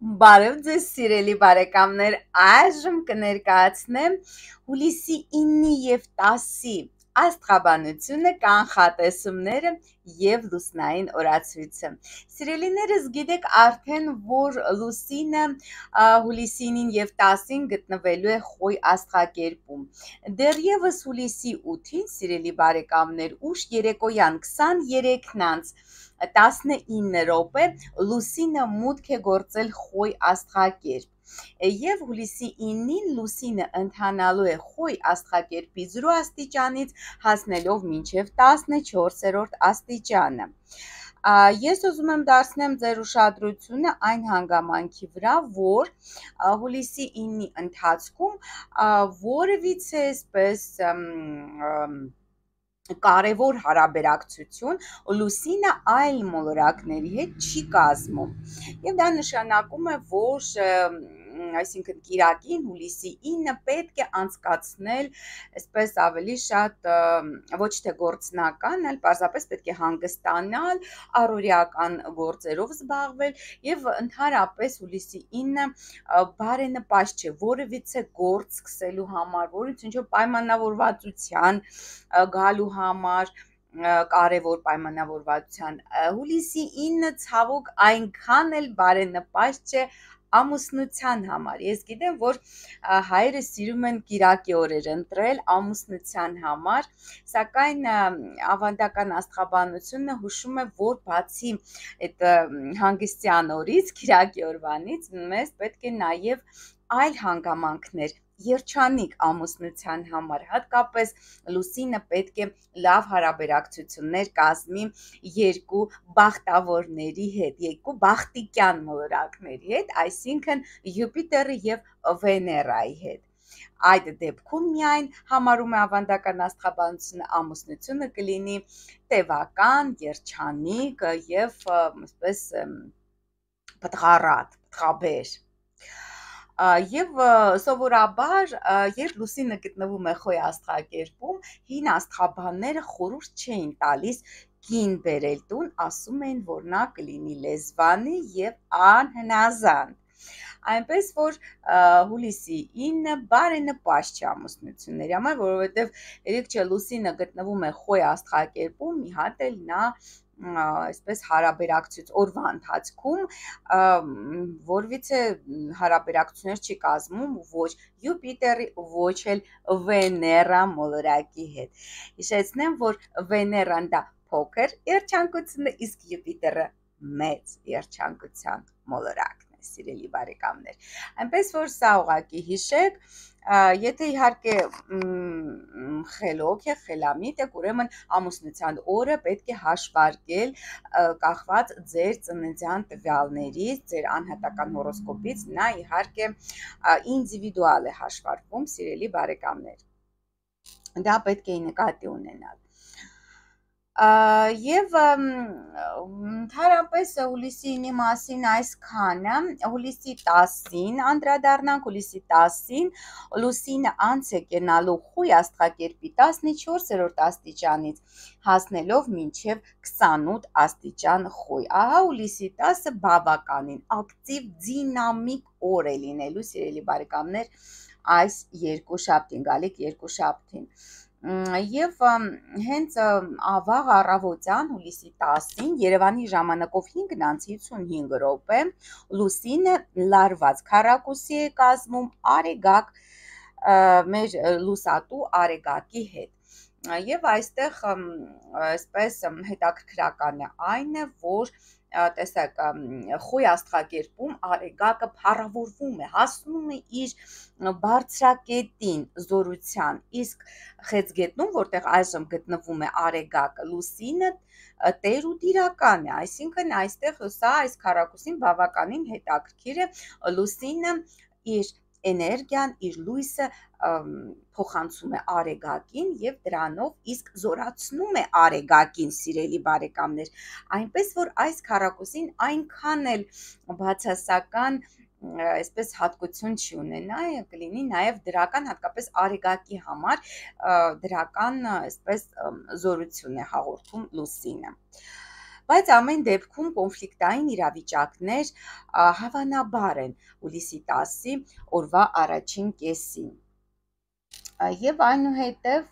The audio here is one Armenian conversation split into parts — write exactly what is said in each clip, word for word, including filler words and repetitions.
Բարև ձեզ սիրելի բարեկամներ, այժմ կներկայացնեմ հուլիսի ինը և տասի աստղաբանությունը, կանխատեսումները և լուսնային օրացույցը։ Սիրելիներս, գիտեք արդեն, որ լուսինը հուլիսի ինին և տասին գտնվելու է Խոյ աստղակերպում։ Դեռևս հուլիսի ութին, սիրելի բարեկամներ, ուշ երեկոյան քսաներեքն անց տասնինը րոպե լուսինը մուտք է գործել Խոյ աստղակերպ, և հուլիսի ինին լուսինը ընթանալու է Խոյ աստղակերպի զրո աստիճանից հասնելով մինչև տասնչորսերորդ աստիճանը։ Ես ուզում եմ դարձնեմ ձեր ուշադրությունը այն հանգամանքի վրա, որ հուլիսի ինի ընթացքում որևիցե այսպես կարևոր հարաբերակցություն լուսինը այլ մոլորակների հետ չի կազմում, և դա նշանակում է, որ այսինքն կիրակին հուլիսի ինը պետք է անցկացնել այսպես ավելի շատ ոչ թե գործնական, այլ պարզապես պետք է հանգստանալ, առօրեական գործերով զբաղվել, և ընդհանրապես հուլիսի ինը բարենպաստ չէ որևիցե գործ սկսելու համար, որից ինչ-որ պայմանավորվածության գալու համար, կարևոր պայմանավորվածության։ Հուլիսի ինը ցավոք այնքան էլ բարենպաստ չէ ամուսնության համար։ Ես գիտեմ, որ հայերը սիրում են կիրակի օրեր ընտրել ամուսնության համար, սակայն ավանդական աստղաբանությունը հուշում է, որ բացի այդ հանգստյան օրից, կիրակի օրվանից, մեզ պետք է նաև այլ հանգամանքներ, երջանիկ ամուսնության համար, հատկապես լուսինը պետք է լավ հարաբերակցություններ կազմի երկու բախտավորների հետ, երկու բախտիկյան մոլորակների հետ, այսինքն Յուպիտերի և Վեներայի հետ։ Այդ դեպքում միայն, համարում է ավանդական աստղաբանությունը, ամուսնությունը կլինի տևական, երջանիկ և այսպես պտղառատ, պտղաբեր։ Եվ սովորաբար, երբ լուսինը գտնվում է Խոյ աստղակերպում, հին աստղաբանները խորհուրդ չէին տալիս կին բերել տուն, ասում էին, որ նա կլինի լեզվանի և անհնազանդ։ Այնպես որ հուլիսի ինը բարենպաստ չէ ամուսնությունների համար, որովհետև երեկ չէ լուսինը գտնվում է Խոյ աստղակերպում, մի հատ էլ նա այսպես հարաբերակցություն օրվա ընթացքում որևիցե հարաբերակցություններ չի կազմում ոչ Յուպիտերի, ոչ էլ Վեներա մոլորակի հետ։ Հիշեցնեմ, որ Վեներան դա փոքր երջանկություն է, իսկ Յուպիտերը մեծ երջանկության մոլորակն է, սիրելի բարեկամներ։ Այնպես որ սա ուղղակի հիշեք, եթե իհարկե խելոք եք, խելամիտ եք, ուրեմն ամուսնության օրը պետք է հաշվարկել կախված ձեր ծննդյան տվյալներից, ձեր անհատական հորոսկոպից, նա իհարկե ինդիվիդուալ է հաշվարկվում, սիրելի բարեկամներ, դա պետք է նկատի ունենալ։ Եվ ընդհանրապես հուլիսի ինի մասին այսքանը, հուլիսի տասին անդրադառնանք, հուլիսի տասին լուսինը անց է կենալու Խոյ աստղակերպի տասնչորսերորդ աստիճանից հասնելով մինչև քսանութ աստիճան Խոյ։ Ահա հուլիսի տասը բավականին ակտիվ, դինամիկ օր է լինելու, սիրելի բարեկամներ, այս երկուշաբթին, գալիք երկուշաբթին։ Եվ հենց ավաղ առավոտյան հուլիսի տասին Երևանի ժամանակով հինգն անց հիսունհինգ րոպե լուսինը լարված քառակուսի է կազմում Արեգակ, մեր լուսատու Արեգակի հետ։ Եվ այստեղ այսպես հետաքրքրականը այն է, որ տեսեք, Խոյ աստղակերպում Արեգակը փառավորվում է, հասնում է իր բարձրակետին, զորության, իսկ Խեցգետնում, որտեղ այժմ գտնվում է Արեգակը, լուսինը տեր ու տիրական է, այսինքն այստեղ սա այս քառակուսին բավականին հետաքրքիր է, լուսինը իր էներգիան, իր լույսը փոխանցում է Արեգակին և դրանով իսկ զորացնում է Արեգակին, սիրելի բարեկամներ, այնպես որ այս քառակուսին այնքան էլ բացասական այսպես հատկություն չի ունենա, կլինի նաև դրական, հատկապես Արեգակի համար դրական այսպես զորություն է հաղորդում լուսինը։ բայց ամեն դեպքում կոնֆլիկտային իրավիճակներ հավանաբար են հուլիսի տասի օրվա առաջին կեսին։ Եվ այնուհետև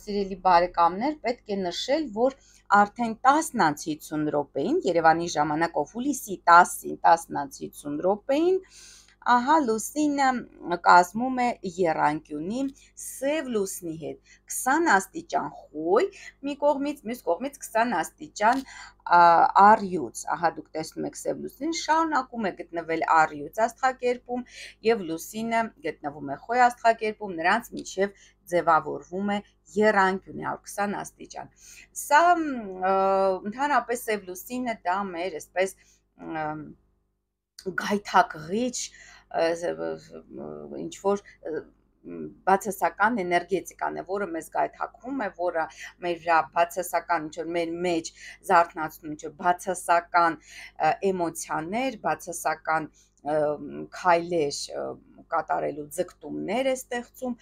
սիրելի բարեկամներ, պետք է նշել, որ արդեն տասն անց հիսուն րոպեին Երևանի ժամանակով հուլիսի տասին տասն անց հիսուն րոպեին ահա լուսինը կազմում է եռանկյունի սև լուսնի հետ քսան աստիճան խոյ մի կողմից, մյուս կողմից քսան աստիճան առյուծ։ Ահա դուք տեսնում եք սև լուսնին շարունակում է գտնվել առյուծ աստղակերպում եւ լուսինը գտնվում է խոյ աստղակերպում, նրանց միջև ձևավորվում է եռանկյուն քսան աստիճան։ Սա ընդհանրապես սև լուսինը դա մեր այսպես գայթակղիչ ինչ որ բացասական էներգետիկան է, որը մեզ գայթակղում է, որը մեր վրա բացասական ինչ որ մեր մեջ զարթնացնում ինչ որ բացասական էմոցիաներ, բացասական քայլեր կատարելու ձգտումներ է ստեղծում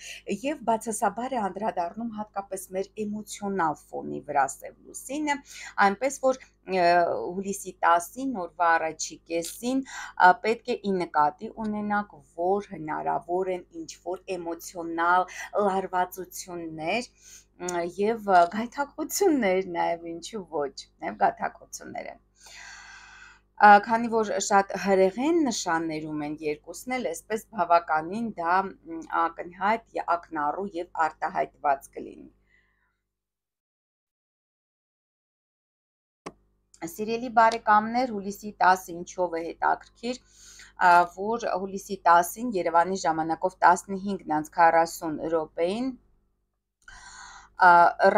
եւ բացասաբար է անդրադառնում հատկապես մեր էմոցիոնալ ֆոնի վրա սև լուսինը, այնպես որ հուլիսի տասին օրվա առաջի կեսին պետք է ի նկատի ունենաք, որ հնարավոր են ինչ որ էմոցիոնալ լարվածություններ եւ գայթակղություններ, նաեւ ինչու ոչ, նաեւ գայթակղություններ են։ Քանի որ շատ հրեղեն նշաններում են երկուսն էլ, այսպես բավականին դա ակնհայտ, ակնառու եւ արտահայտված կլինի։ Սիրելի բարեկամներ, հուլիսի տասը ինչով է հետաքրքիր, որ հուլիսի տասին Երևանի ժամանակով տասնհինգ անց քառասուն րոպեին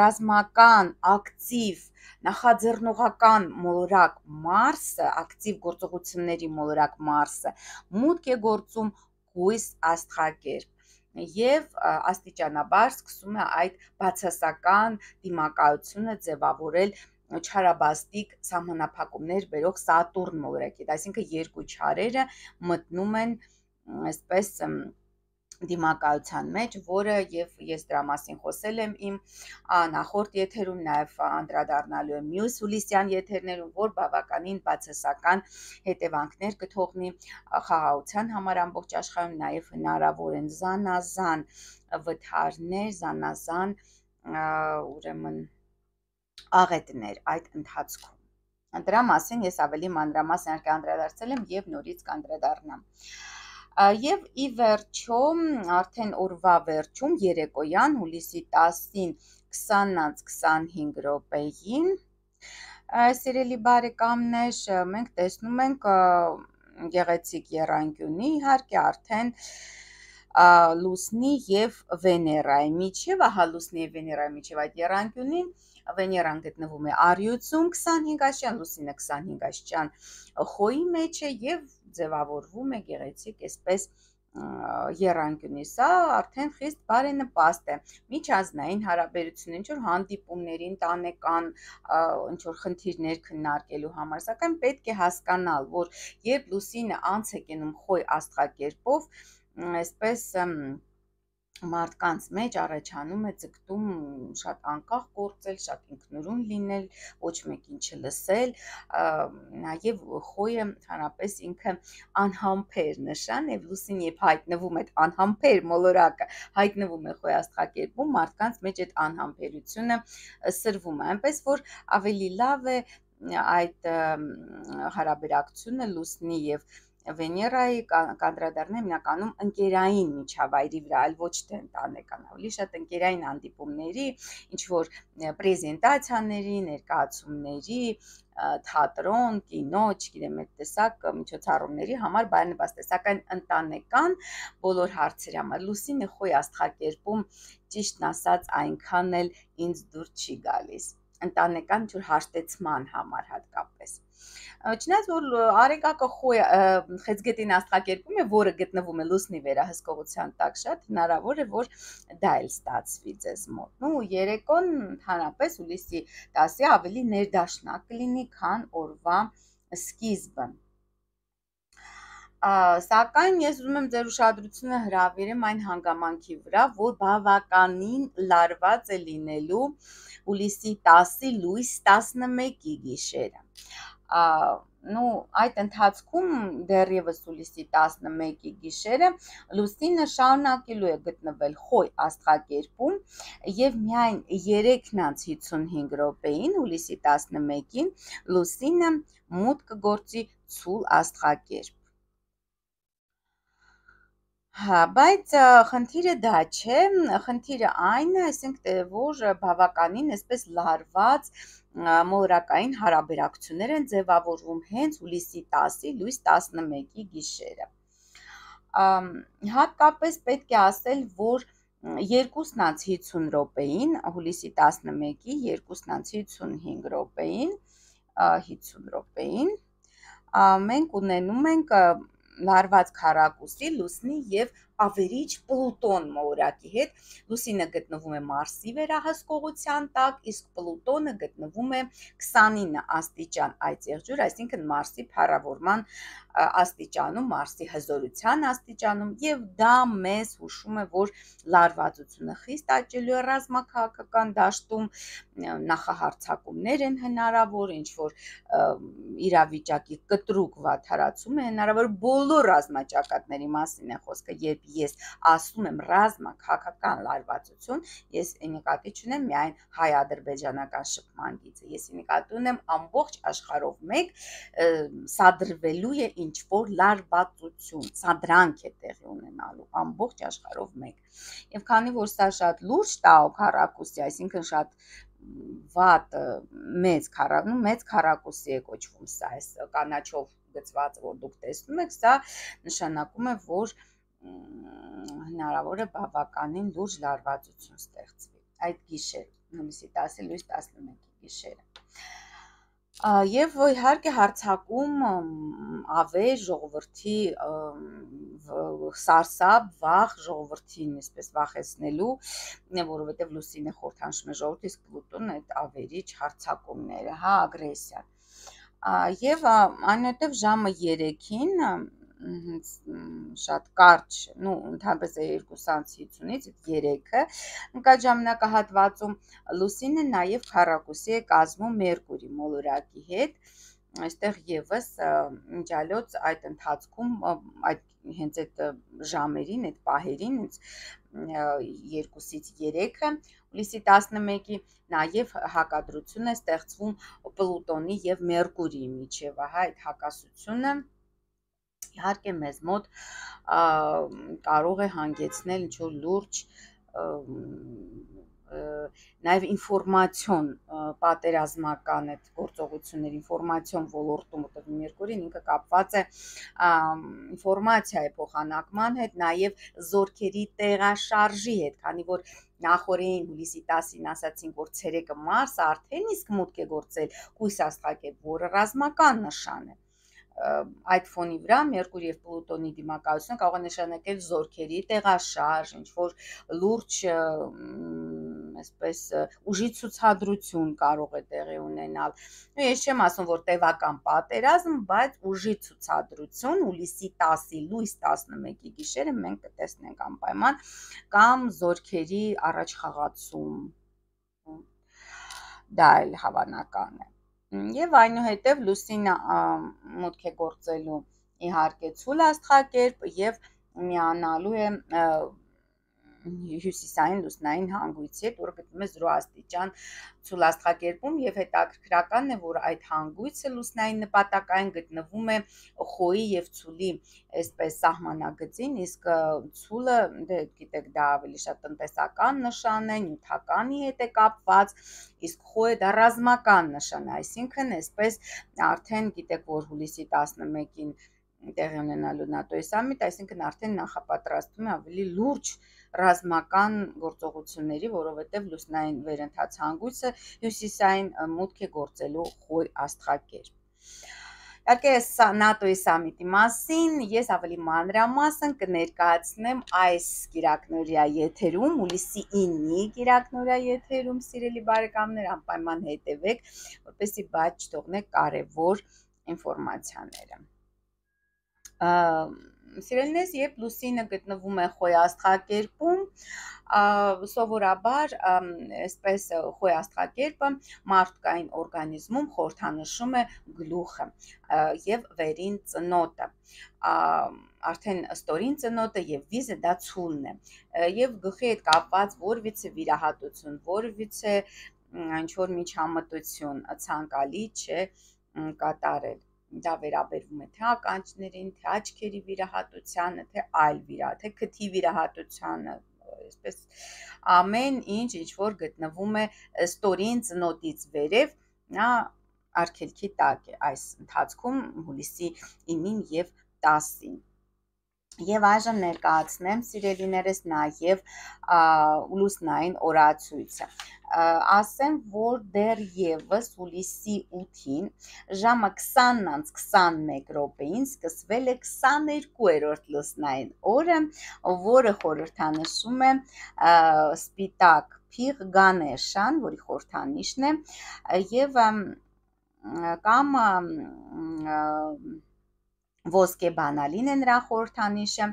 ռազմական ակտիվ նախաձեռնողական մոլորակ Մարսը, ակտիվ գործողությունների մոլորակ Մարսը մուտք է գործում կույս աստղակերպ եւ աստիճանաբար սկսում է այդ բացասական դիմակայությունը ձևավորել չարաբաստիկ սահմանափակումներ բերող Սատուրն մոլորակի, այսինքն երկու չարերը մտնում են այսպես դիմակայության մեջ, որը եւ ես դրա մասին խոսել եմ իմ նախորդ եթերում, նաեւ անդրադառնալու եմ մյուս հուլիսյան եթերներում, որ բավականին բացասական հետևանքներ կթողնի խաղաղության համար ամբողջ աշխարհում, նաեւ հնարավոր են զանազան վթարներ, զանազան ուրեմն աղետներ այդ ընթացքում։ Դրա մասին ես ավելի մանրամասն անդրադարձել եմ եւ նորից կանդրադառնամ։ Եվ ի վերջո արդեն օրվա վերջում երեկոյան հուլիսի տասին քսան անց քսանհինգ րոպեին սիրելի բարեկամներ մենք տեսնում ենք գեղեցիկ եռանկյունի իհարկե արդեն լուսնի եւ Վեներայի միջև, ահա լուսնի եւ Վեներայի միջև այդ եռանկյունին Վեներան գտնվում է առյուծում քսանհինգ աստիճան, լուսինը քսանհինգ աստիճան խոյի մեջ է եւ ձևավորվում է գեղեցիկ այսպես եռանկյունի։ Սա արդեն խիստ բարենպաստ է միջազգային հարաբերություններին, ինչ որ հանդիպումների, ընտանեկան ինչ որ խնդիրներ քննարկելու համար, սակայն պետք է հասկանալ, որ երբ լուսինը անց է կենում խոյ աստղակերպով, այսպես մարդկանց մեջ առաջանում է ձգտում շատ անկախ գործել, շատ ինքնուրույն լինել, ոչ մեկին չլսել, նաև խոյը հանրապես ինքը անհամբեր նշան եւ լուսին երբ հայտնվում է անհամբեր մոլորակը, հայտնվում է խոյ աստղակերպում, մարդկանց մեջ այդ անհամբերությունը սրվում է, այնպես որ ավելի լավ է այդ հարաբերակցությունը լուսնի եւ Վեներայի կանդրադառնա հիմնականում ընկերային միջավայրի վրա, այլ ոչ թե ընտանեկան, ավելի շատ ընկերային հանդիպումների, ինչ որ պրեզենտացիաների, ներկայացումների, թատրոն, կինո, չգիտեմ, այդ տեսակ միջոցառումների համար բարենպաստ է, սակայն ընտանեկան բոլոր հարցերի համար լուսինը խոյ աստղակերպում ճիշտն ասած այնքան էլ ինձ դուր չի գալիս, ընտանեկան ինչ որ հաշտեցման համար հատկապես։ Չնայած որ արեգակը խոյ խեցգետին աստղակերպում է, որը գտնվում է լուսնի վերահսկողության տակ, շատ հնարավոր է, որ դա էլ ստացվի ձեզ մոտ։ Ու երեկոն ընդհանրապես հուլիսի տասի ավելի ներդաշնակ կլինի, քան օրվա սկիզբը։ Սակայն ես ուզում եմ ձեր ուշադրությունը հրավիրեմ այն հանգամանքի վրա, որ բավականին լարված է լինելու հուլիսի տասի լույս տասնմեկի գիշերը։ Նու այդ ընթացքում դեռևս հուլիսի տասնմեկի գիշերը լուսինը շարունակելու է գտնվել խոյ աստղակերպում եւ միայն երեքն անց հիսունհինգ րոպեին հուլիսի տասնմեկին լուսինը մուտք կգործի ցուլ աստղակերպ։ Հա, բայց խնդիրը դա չէ, խնդիրը այն է, այսինքն որ բավականին այսպես լարված մոլորակային հարաբերակցություններ են ձևավորվում հենց հուլիսի տասի լույս տասնմեկի գիշերը։ Հատկապես պետք է ասել, որ երկուսն անց հիսուն րոպեին, հուլիսի տասնմեկի երկուսն անց հիսունհինգ րոպեին, հիսուն րոպեին, մենք ունենում ենք լարված քառակուսի լուսնի եւ ավերիչ Պլուտոն մոլորակի հետ։ Լուսինը գտնվում է Մարսի վերահսկողության տակ, իսկ Պլուտոնը գտնվում է քսանինը աստիճան այծեղջյուր, այսինքն Մարսի փառավորման աստիճանում, Մարսի հզորության աստիճանում, եւ դա մեզ հուշում է, որ լարվածությունը խիստ աճելու է ռազմաքաղաքական դաշտում, նախահարձակումներ են հնարավոր, ինչ որ իրավիճակի կտրուկ վատթարացում է հնարավոր, բոլոր ռազմաճակատների մասին է խոսքը, երբ ես ասում եմ ռազմաքաղաքական լարվածություն, ես նկատի չունեմ միայն հայ-ադրբեջանական շփման գիծը, ես նկատի ունեմ ամբողջ աշխարհով մեկ սադրվելու է ինչ որ լարվածություն, սադրանք է տեղի ունենալու ամբողջ աշխարհով մեկ։ Եվ քանի որ սա շատ լուրջ տաո քառակուսի, այսինքն շատ վատ մեծ քառակուսի, մեծ քառակուսի է կոչվում սա, այս կանաչով գծվածը, որ դուք տեսնում եք, սա նշանակում է, որ հնարավոր է բավականին լուրջ լարվածություն ստեղծվի այդ գիշերը, հուլիսի տասի լույս տասնմեկի գիշերը։ Եվ իհարկե հարձակում ավեր ժողովրդի սարսափ, վախ ժողովրդին այսպես վախեցնելու, որովհետև լուսինը խորհրդանշում է ժողովրդի, իսկ Պլուտոնը այդ ավերիչ հարձակումները, հա, ագրեսիան։ Եվ այնուհետև ժամը երեքին շատ կարճ, նու ընդհանրապես երկուս անց հիսունից երեքը ընկած ժամանակահատվածում լուսինը նաև քառակուսի է կազմում Մերկուրի մոլորակի հետ, այստեղ եւս մինչալոց այդ ընթացքում այդ հենց այդ ժամերին, այդ պահերին երկուսից երեքը հուլիսի տասնմեկի նաև հակադրություն է ստեղծվում Պլուտոնի եւ Մերկուրիի միջև, ահա այդ հակասությունը իհարկե մեզ մոտ կարող է հանգեցնել ինչ-որ լուրջ նաև ինֆորմացիոն պատերազմական այդ գործողություններ, ինֆորմացիոն ոլորտում, որտեղ Մերկուրին ինքը կապված է ինֆորմացիայի փոխանակման հետ, նաև զորքերի տեղաշարժի հետ, քանի որ նախորդին հուլիսի տասին ասացինք, որ ցերեկը Մարսը արդեն իսկ մուտք է գործել կույս աստղակերպ, որը ռազմական նշան է։ Այդ ֆոնի վրա Մերկուրի եւ Պլուտոնի դիմակայությունը կարող է նշանակել զորքերի տեղաշարժ, ինչ որ լուրջ այսպես ուժի ցուցադրություն կարող է տեղի ունենալ։ Ու ես չեմ ասում, որ տևական պատերազմ, բայց ուժի ցուցադրություն հուլիսի տասի լույս տասնմեկի գիշերը մենք կտեսնենք անպայման, կամ զորքերի առաջխաղացում։ Դա էլ հավանական է։ Եվ այնուհետև լուսինը մուտք է գործելու իհարկե ցուլ աստղակերպ եւ միանալու է հյուսիսային լուսնային հանգույցի հետ, որը գտնվում է զրո աստիճան ցուլ աստղակերպում եւ հետաքրքրականն է, որ այդ հանգույցը լուսնային նպատակային գտնվում է խոյի եւ ցուլի այսպես սահմանագծին, իսկ ցուլը, դե գիտեք, դա ավելի շատ տնտեսական նշան է, նյութականի հետ է կապված, իսկ խոյը դա ռազմական նշան է, այսինքն այսպես արդեն գիտեք, որ հուլիսի տասնմեկին տեղի ունենալու նատոյի սամիտ, այսինքն արդեն նախապատրաստվում է ավելի լուրջ ռազմական գործողությունների, որովհետև լուսնային վերընթաց հանգույցը հյուսիսային մուտք է գործելու խոյ աստղակերպ։ Իհարկե նատոյի սամիտի մասին ես ավելի մանրամասն կներկայացնեմ այս կիրակնօրյա եթերում, հուլիսի ինի կիրակնօրյա եթերում, սիրելի բարեկամներ, անպայման հետևեք, որպեսզի բաց չթողնեք կարևոր ինֆորմացիաները։ Սիրելիներս, երբ լուսինը գտնվում է խոյաստղակերպում, սովորաբար այսպես խոյաստղակերպը մարդկային օրգանիզմում խորհրդանշում է գլուխը եւ վերին ծնոտը, արդեն ստորին ծնոտը եւ վիզը դա ցուլն է եւ գլխի հետ կապված որևիցե վիրահատություն, որևիցե ինչ-որ միջամտություն ցանկալի չէ կատարել։ Դա վերաբերվում է թե ականջներին, թե աչքերի վիրահատությանը, թե այլ վիրա, թե քթի վիրահատությանը, այսպես ամեն ինչ, ինչ որ գտնվում է ստորին ծնոտից վերև, նա արգելքի տակ է այս ընթացքում հուլիսի ինին եւ տասին։ Եվ այժմ ներկայացնեմ սիրելիներս նաև լուսնային օրացույցը։ Ասեմ, որ դեռ եւս հուլիսի ութին ժամը քսանից քսանմեկ րոպեին սկսվել է քսաներկուերորդ լուսնային օրը, որը խորհրդանշում է սպիտակ փիղ Գանեշան, որի խորհրդանիշն է, եւ կամ ոսկե բանալին է նրա խորհրդանիշը,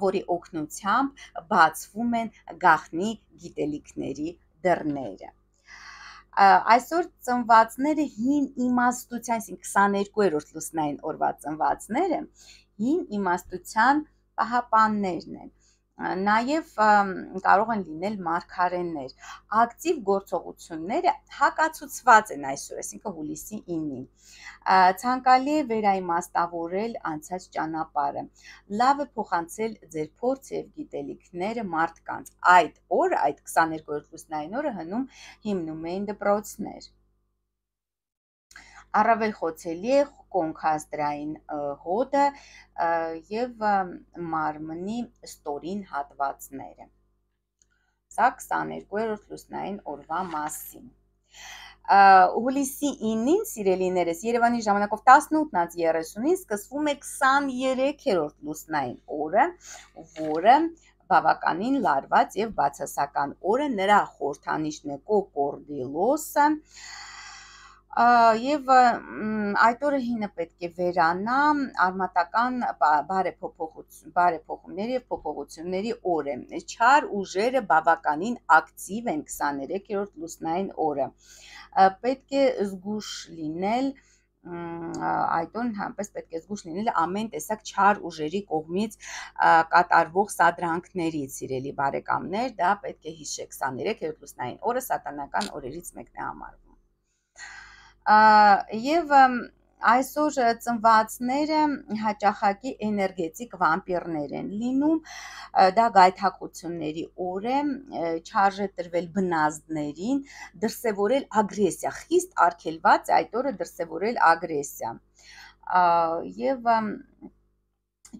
որի օգնությամբ բացվում են գաղտնի գիտելիքների դռները։ Այսօր ծնվածները հին իմաստության, այսինքն քսաներկուերորդ լուսնային օրվա ծնվածները հին իմաստության պահապաններն են։ Նաև կարող են լինել մարգարեներ։ Ակտիվ գործողությունները հակացուցված են այսօր, այսինքն հուլիսի ինին։ Ցանկալի է վերաիմաստավորել անցած ճանապարհը, լավ է փոխանցել ձեր փորձը եւ գիտելիքները մարդկանց։ Այդ օրը, այդ քսաներկուերորդ լուսնային օրը հնում հիմնում էին դպրոցներ։ Առավել խոցելի է կոնքաստրային հոդը եւ մարմնի ստորին հատվածները։ Սա քսաներկուերորդ լուսնային օրվա մասին։ Հուլիսի ինին, սիրելիներս, Երևանի ժամանակով տասնութից երեսունին սկսվում է քսաներեքերորդ լուսնային օրը, որը բավականին լարված եւ բացասական օր է, նրա խորհրդանիշն է կոկորդիլոսը, եւ այդ օրը հինը պետք է վերանա, արմատական բարեփոխություն, բարեփոխումների եւ փոփոխությունների օր է։ Չար ուժերը բավականին ակտիվ են քսաներեքերորդ լուսնային օրը։ Պետք է զգուշ լինել այդ օրն համպես պետք է զգուշ լինել ամեն տեսակ չար ուժերի կողմից կատարվող սադրանքներից, սիրելի բարեկամներ, դա պետք է հիշեք, քսաներեքերորդ լուսնային օրը սատանական օրերից մեկն է համարվում։ Եվ այսօր ծնվածները հաճախակի էներգետիկ վամպիրներ են լինում, դա գայթակղությունների օր է, չարժե տրվել բնազդներին, դրսևորել ագրեսիա, խիստ արգելված է այդ օրը դրսևորել ագրեսիա եւ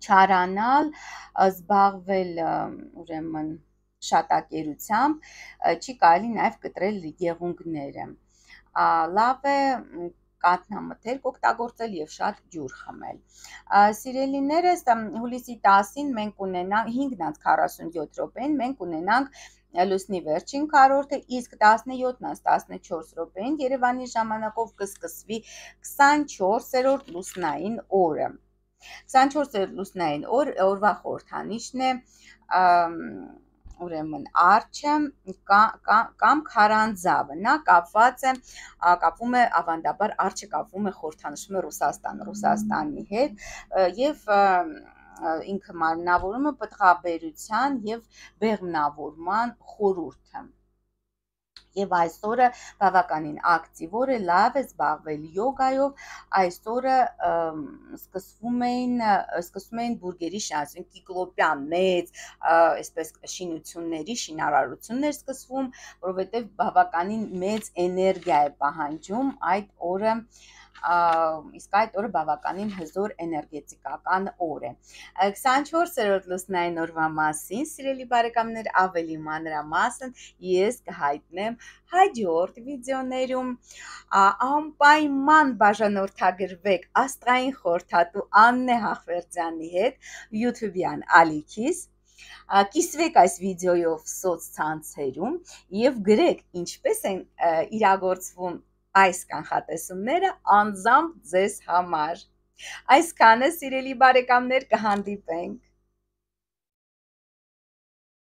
չարանալ, զբաղվել ուրեմն շատակերությամբ, չի կարելի նաև կտրել եղունգները։ Լավ է կաթնամթերք օգտագործել եւ շատ ջուր խմել։ Սիրելիներս, հուլիսի տասին մենք ունենանք հինգից քառասունյոթ րոպեին մենք ունենանք լուսնի վերջին քառորդը, իսկ տասնյոթից տասնչորս րոպեին Երևանի ժամանակով կսկսվի քսանչորսերորդ լուսնային օրը։ քսանչորսերորդ լուսնային օր օրվա խորհրդանիշն է ուրեմն արջը կամ քարանձավը, նա կապված է կապվում է ավանդաբար արջը կապվում է խորհրդանշում է Ռուսաստան, Ռուսաստանի հետ եւ ինքը մարմնավորում է պտղաբերության եւ բեղմնավորման խորհուրդը։ Եվ այսօրը բավականին ակտիվ օր է, լավ է զբաղվել յոգայով, այսօրը սկսվում էին սկսում էին բուրգերի շինարարություն, կիկլոպյան մեծ, այսպես շինությունների շինարարություններ սկսվում, որովհետև բավականին մեծ էներգիա է պահանջում այդ օրը, իսկ այդ օրը բավականին հզոր էներգետիկական օր է։ քսանչորսերորդ լուսնային օրվա մասին, սիրելի բարեկամներ, ավելի մանրամասն ես կհայտնեմ հաջորդ վիդեոներում։ Անպայման բաժանորդագրվեք աստղային խորհրդատու Աննե Հախվերդյանի հետ YouTube-յան ալիքիս, կիսվեք այս վիդեոյով սոցցանցերում եւ գրեք ինչպես են իրագործվում այս կանխատեսումները անձամբ ձեզ համար։ Այսքանը, սիրելի բարեկամներ, կհանդիպենք։